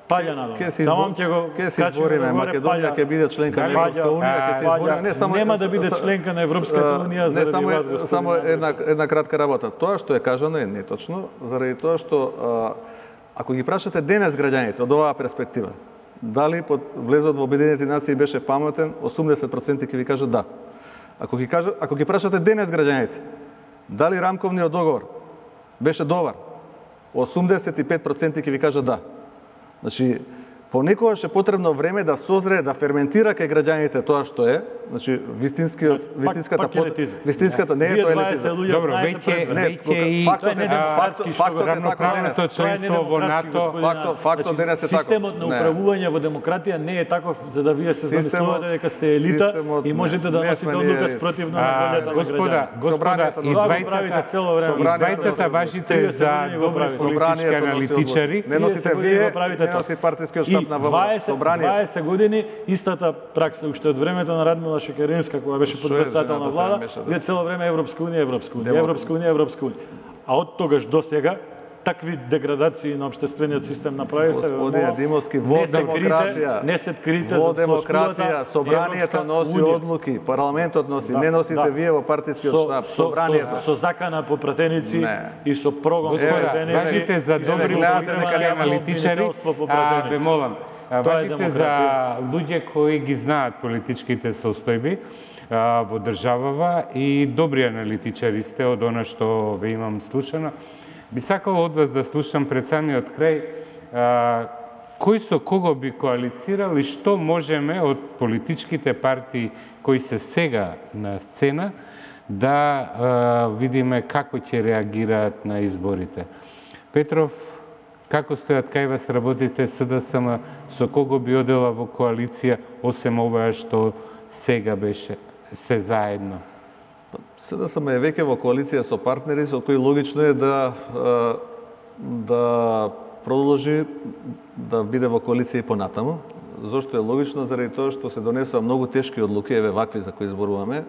Паѓа надолу. Тамам ќе го ќе се избориме, Македонија ќе биде членка на Европска унија, ќе се избориме, не само нема да биде членка на Европската унија заради само вас, господин. Само една една кратка работа. Тоа што е кажано е неточно, заради тоа што ако ги прашате денес граѓаните од оваа перспектива, дали под влезот во Обединетите нации беше паметен, осумдесет проценти ќе ви кажат да. Ако ги кажат, ако ги прашате денес граѓаните, дали рамковниот договор беше добар, осумдесет и пет проценти ќе ви кажат да. Значи, понекогаш е потребно време да созре, да ферментира кај граѓаните тоа што е, значи вистинскиот вистинската под вистинската не е тоа елитизам. Добро, веќе веќе и фактот е фактот е равноправното членство во НАТО, фактот фактот денес е така. Системот на управување во демократија не е таков за да вие се замислувате дека сте елита и можете да носите одлука спротивно на волјата на господа, господа, издвајцата важите за добри политички аналитичари. Не носите вие, не носи партискиот штаб на ВМРО. дваесет години истата пракса уште од времето на Радмила Шекеринска кога беше подпредседател на влада, вие цело време Европска унија, Европска унија, Европска унија, Европска унија. А од тогаш до сега такви деградации на општествениот систем направивте. Господине Димовски, во демократија, не се крите во демократија, собранието носи одлуки, парламентот носи, не носите вие во партискиот штаб, собранието. Со закана по пратеници и со прогон по пратеници. Важите за добри политички аналитичари, ве молам. а, Тоа е важите за демократија. луѓе кои ги знаат политичките состојби а, во државава и добри аналитичари сте од она што ве имам слушано. Би сакал од вас да слушам пред самиот крај а, кој со кого би коалицирал и што можеме од политичките партии кои се сега на сцена да а, видиме како ќе реагираат на изборите. Петров, како стојат кај вас работите СДСМ, со кого би одела во коалиција, осем ова што сега беше се заедно? СДСМ е веќе во коалиција со партнери со кои логично е да да продолжи да биде во коалиција и понатаму. Зошто е логично? Заради тоа што се донесува многу тешки одлуки, еве вакви за кои зборуваме,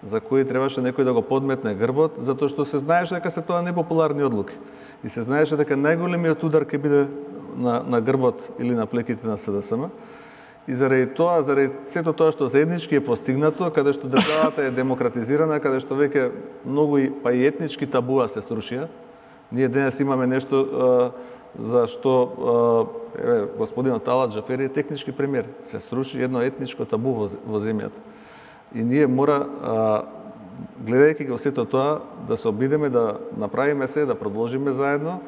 за кои требаше некој да го подметне грбот, затоа што се знаеше дека се тоа непопуларни одлуки. И се знаеше дека најголемиот удар ќе биде на, на грбот или на плеките на СДСМ. И заради тоа, заради сето тоа што заеднички е постигнато, каде што државата е демократизирана, каде што веќе многу и па и етнички табуа се срушија. Ние денес имаме нешто а, за што еве господинот Талат Джафери е технички премиер. Се сруши едно етничко табу во, во земјата. И ние мора, а, гледајќи го сето тоа, да се обидеме да направиме се, да продолжиме заедно,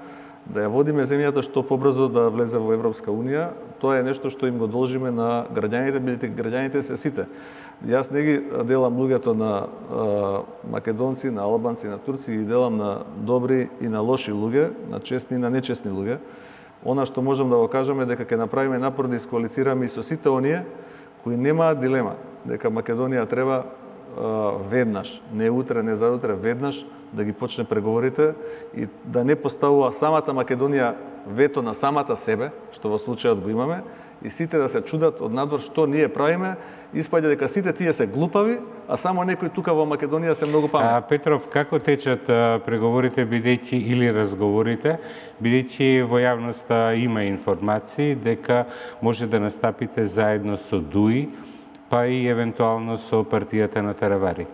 да ја водиме земјата што побрзо да влезе во Европска Унија. Тоа е нешто што им го должиме на граѓаните, бидејќи граѓаните се сите. Јас не ги делам луѓето на а, македонци, на албанци, на турци, ги делам на добри и на лоши луѓе, на честни и на нечестни луѓе. Она што можам да го кажам е дека ќе направиме напор да искоалицираме и со сите оние кои немаат дилема дека Македонија треба а, веднаш, не утре, не заутре, веднаш да ги почне преговорите и да не поставува самата Македонија вето на самата себе, што во случајот го имаме, и сите да се чудат од надвор што ние правиме, испаѓа дека сите тие се глупави, а само некои тука во Македонија се многу паметни. А, Петров, како течат а, преговорите, бидејќи или разговорите, бидејќи во јавноста има информации дека може да настапите заедно со ДУИ, па и евентуално со партијата на Таравари?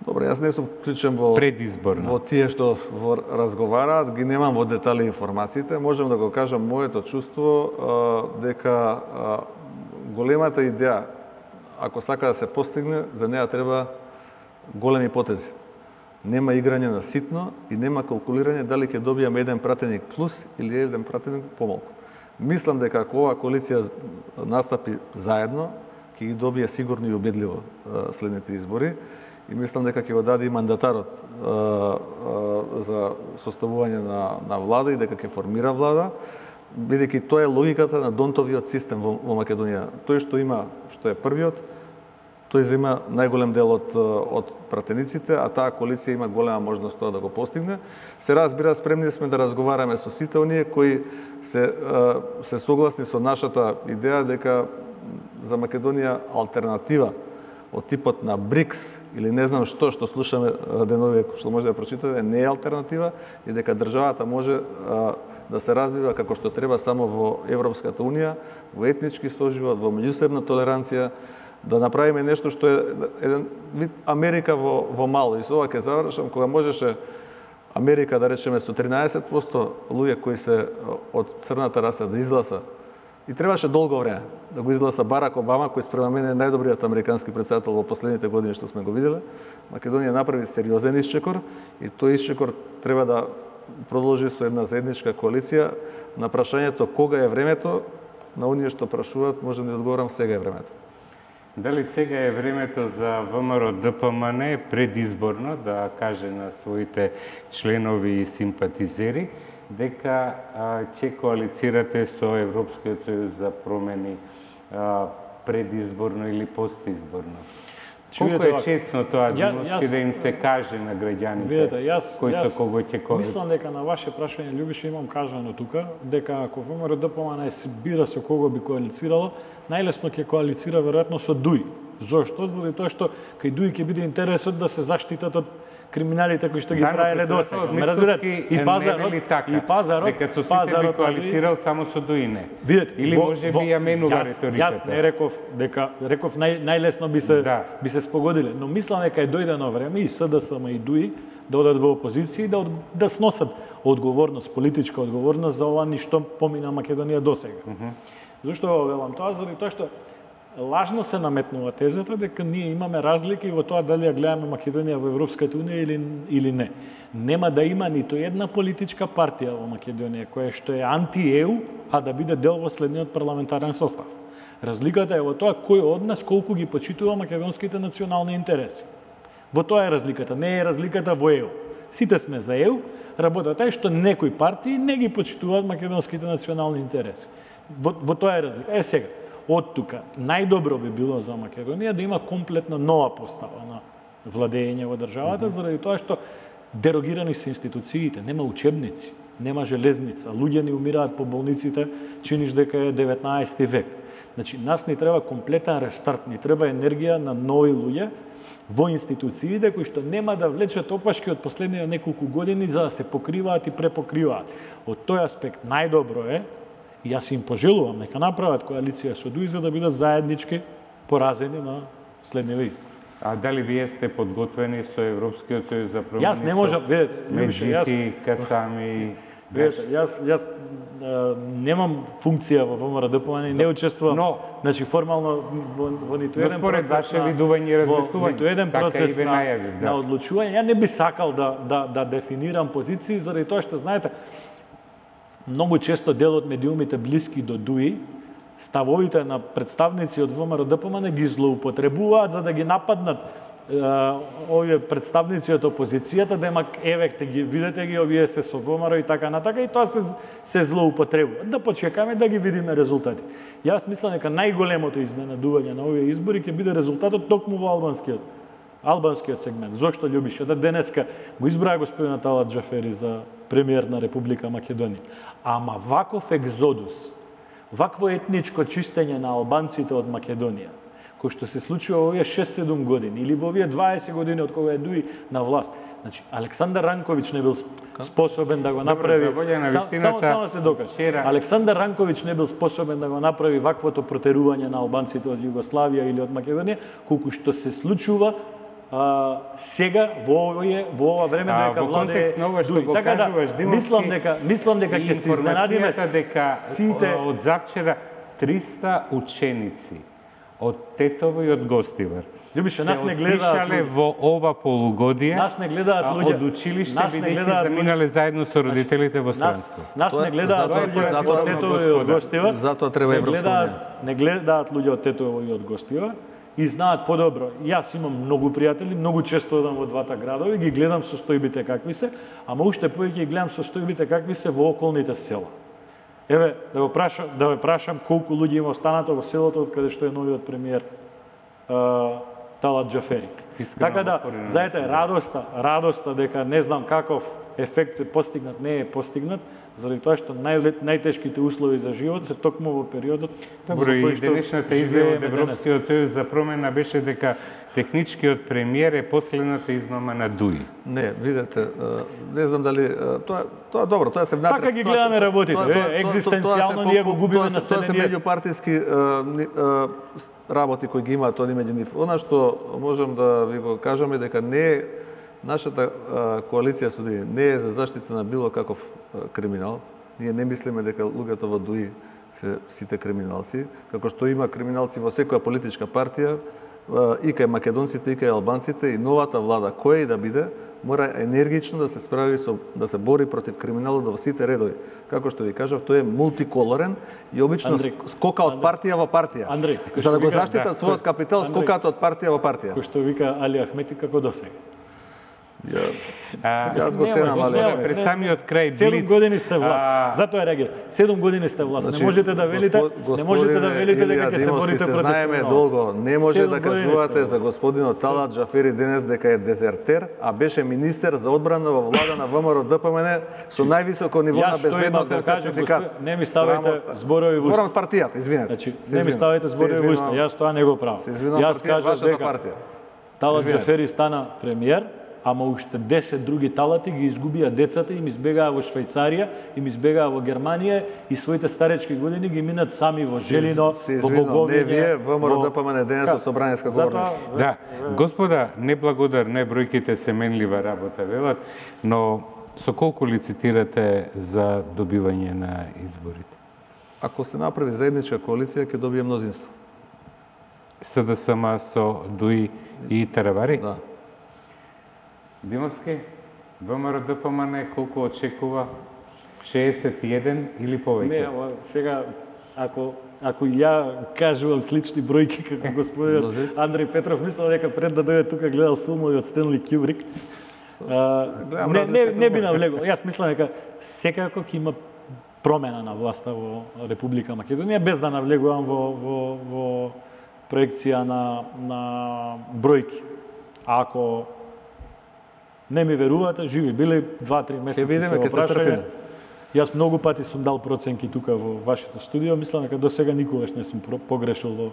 Добре, јас не сум вклучен во предизборно во тие што во разговараат, ги немам во детали информациите. Можам да го кажам моето чувство а, дека а, големата идеја, ако сака да се постигне, за неа треба големи потези. Нема играње на ситно и нема калкулирање дали ќе добијаме еден пратеник плюс или еден пратеник помалку. Мислам дека ако оваа коалиција настапи заедно, ќе ги добие сигурно и убедливо а, следните избори. И мислам дека ќе го даде и мандатарот а, а, за составување на, на влада и дека ќе формира влада, бидејќи тоа е логиката на Донтовиот систем во, во Македонија. Тој што има, што е првиот, тој зема најголем дел од, од пратениците, а таа коалиција има голема можност тоа да го постигне. Се разбира, спремни сме да разговараме со сите оние кои се, се согласни со нашата идеја дека за Македонија алтернатива од типот на БРИКС или не знам што што слушаме денови што може да прочитате, не е алтернатива и дека државата може а, да се развива како што треба само во Европската Унија, во етнички соживот, во меѓусебна толеранција, да направиме нешто што е еден вид Америка во, во мало. И со ова ќе завршам, кога можеше Америка, да речеме, со тринаесет проценти луѓе кои се од црната раса да изгласа. И требаше долго време да го изгласа Барак Обама, кој спрема мене е најдобриот американски претседател во последните години што сме го виделе. Македонија направи сериозен исчекор и тој исчекор треба да продолжи со една заедничка коалиција. На прашањето кога е времето, на оние што прашуваат, можам да одговорам сега е времето. Дали сега е времето за ВМРО ДПМН предизборно да каже на своите членови и симпатизери дека а, ќе коалицирате со Европскиот сојуз за промени а, предизборно или постизборно? Колку е честно тоа денески да им се каже на граѓаните видете, јас, кој јас со кого ќе коалицирате? Мислам дека на ваше прашање, Љубише, имам кажано тука, дека ако ВМРО ДПМН се бира со кого би коалицирало, најлесно ќе коалицира веројатно со ДУИ. Зошто? Заради тоа што кај ДУИ ќе биде интересот да се заштитат од криминалите кои што ги правеле досега. Ме разбирате? И пазарот, и пазарот, дека со сите би коалицирал само со ДУИ не. Видете, или може би ја менува риториката. Јас не реков дека реков нај, најлесно би се да. би се спогодиле, но мислам дека е дојдено време и СДСМ и ДУИ да одат во опозиција и да да сносат одговорност, политичка одговорност за ова ништо помина Македонија досега. Uh -huh. Зошто го велам тоа? Заради тоа што лажно се наметнува тезата дека ние имаме разлики во тоа дали ја гледаме Македонија во Европската унија или или не. Нема да има ниту една политичка партија во Македонија која што е анти-Е У, а да биде дел во следниот парламентарен состав. Разликата е во тоа кој од нас колку ги почитува македонските национални интереси. Во тоа е разликата, не е разликата во Е У. Сите сме за Е У, работата е што некои партии не ги почитуваат македонските национални интереси. Во, во тоа е разлика. Е сега, од тука, најдобро би било за Македонија да има комплетно нова постава на владење во државата, mm -hmm. заради тоа што дерогирани се институциите, нема учебници, нема железница, луѓе ни умираат по болниците, чиниш дека е деветнаесети век. Значи, нас ни треба комплетен рестарт, ни треба енергија на нови луѓе во институциите кои што нема да влечат опашки од последните неколку години за да се покриваат и препокриваат. Од тој аспект најдобро е, и јас им пожелувам, нека направат коалиција со ДУИ за да бидат заеднички поразени на следниве избори. А дали вие сте подготвени со Европскиот сојуз за промени? Јас не можам, видете, Меджити, Касами. Видете, јас јас а, немам функција во ВМРО-ДПМН и не учествувам. Но, значи формално во, во ниту еден според процес ваше видување и во размислување, ниту еден така процес и ве на, најавив, да. на одлучување. Ја не би сакал да да да дефинирам позиции заради тоа што знаете многу често дел од медиумите блиски до ДУИ ставовите на представници од ВМРО-ДПМН ги злоупотребуваат за да ги нападнат е, овие представници од опозицијата, да има еве ги видите ги овие се со ВМРО и така натака и тоа се се злоупотребува. Да почекаме да ги видиме резултати. Јас мислам дека најголемото изненадување на овие избори ќе биде резултатот токму во албанскиот албанскиот сегмент. Зошто љубише да денеска го избраа господинот Талат Џафери за премиер на Република Македонија. Ама ваков екзодус, вакво етничко чистење на албанците од Македонија, кој што се случува во овие шест-седум години или во овие дваесет години од кога е ДУИ на власт. Значи, Александар Ранковиќ не бил способен да го направи. Добро, за волја на вистината, само, само се докаже. Вчера... Александар Ранковиќ не бил способен да го направи ваквото протерување на албанците од Југославија или од Македонија, колку што се случува а, сега во овие во ова време а, дека владе контекст на ова што го така кажуваш, да, мислам дека мислам дека ќе се изненадиме дека сите од завчера триста ученици од Тетово и од Гостивар Љубише, нас не гледаат луѓе во ова полугодие. Нас не гледаат луѓе од училиште бидејќи заминале заедно со родителите во странство. Нас не гледаат луѓе од Тетово и од Гостивар. Затоа треба Европска унија. Не гледаат луѓе од Тетово и од Гостивар и знаат подобро. Јас имам многу пријатели, многу често одам во двата градови, ги гледам состојбите какви се, ама уште повеќе ги гледам состојбите какви се во околните села. Еве, да го прашам, да ве прашам колку луѓе има останато во селото од каде што е новиот премиер Талат Џафери. Така да, знаете, радоста, радоста дека не знам каков ефект е постигнат, не е постигнат, заради тоа што нај, најтешките услови за живот се токму во периодот. Добро, и денешната изјава од Европскиот сојуз за промена беше дека техничкиот премиер е последната измама на ДУИ. Не, видете, не знам дали тоа тоа добро, тоа се внатре. Така ги гледаме работите, екзистенцијално ние го губиме на Тоа се меѓупартиски работи кои ги имаат они меѓу нив. Она што можам да ви го кажам е дека не е нашата коалиција со ДУИ не е за заштита на било каков криминал. Ние не мислиме дека луѓето во ДУИ се сите криминалци, како што има криминалци во секоја политичка партија, и кај македонците, и кај албанците, и новата влада, која и да биде, мора енергично да се справи со да се бори против криминалот во сите редови. Како што ви кажав, тој е мултиколорен и обично Андрей, скока од партија во партија. Андрей, за да го заштитат да, својот капитал, Андрей, скокаат од партија во партија. Кој што вика Али Ахмети како досега. Ја, а, јас го ценам, али пред самиот крај Блиц. седум години сте власт. А... Затоа реагира. седум години сте власт. Значи, не можете да велите, не можете да велите дека ќе се борите против. Знаеме долго, не може да кажувате за господинот Талат Џафери денес дека е дезертер, а беше министер за одбрана во влада на ВМРО-ДПМН со највисоко ниво на безбедност за сертификат. Не ми ставите зборови во уста. Зборам партијата, извинете. Значи, не ми ставите зборови во уста. Јас тоа не го правам. Јас кажав дека Талат Џафери стана премиер, ама уште десет други талати ги изгубија децата, им избегаа во Швајцарија, им избегаа во Германија и своите старечки години ги минат сами во Желино, во Боговиње. Не вие, ВМРО-ДПМН денес од собраниска говорност. Да, господа, неблагодарне бројките се менлива работа велат, но со колку лицитирате за добивање на изборите? Ако се направи заедничка коалиција, ќе добие мнозинство. СДСМ со Дуи и Таравари? Да. Димовски, ВМРО-ДПМН колку очекува? шеесет и еден или повеќе? Не, ама сега, ако ако ја кажувам слични бројки како господинот Андреј Петров, мислам дека пред да дојде тука гледал филмови од Стенли Кјубрик. Не, не, не би навлегол. Јас мислам дека секако ќе има промена на власта во Република Македонија, без да навлегувам во, во, во проекција на, на бројки. А ако не ми верувате, живи били два-три месеци се во прашање. Јас многу пати сум дал проценки тука во вашето студио, мислам дека до сега никогаш не сум погрешил во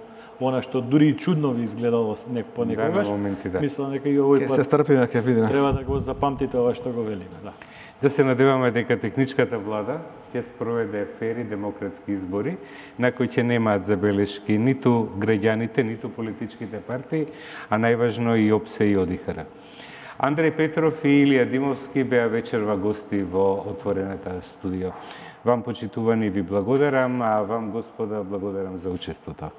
она што дури и чудно ви изгледало по некогаш. Да, на моменти, да. Мислам дека и овој пат пат се стрпиме, ќе видиме. Треба да го запамтите ова што го велиме, да. Да се надеваме дека техничката влада ќе спроведе фери демократски избори, на кои ќе немаат забелешки ниту граѓаните, ниту политичките партии, а најважно и ОПСЕ и ОДИХР. Андреј Петров и Илија Димовски беа вечерва гости во отворената студио. Вам, почитувани, ви благодарам, а вам, господа, благодарам за учеството.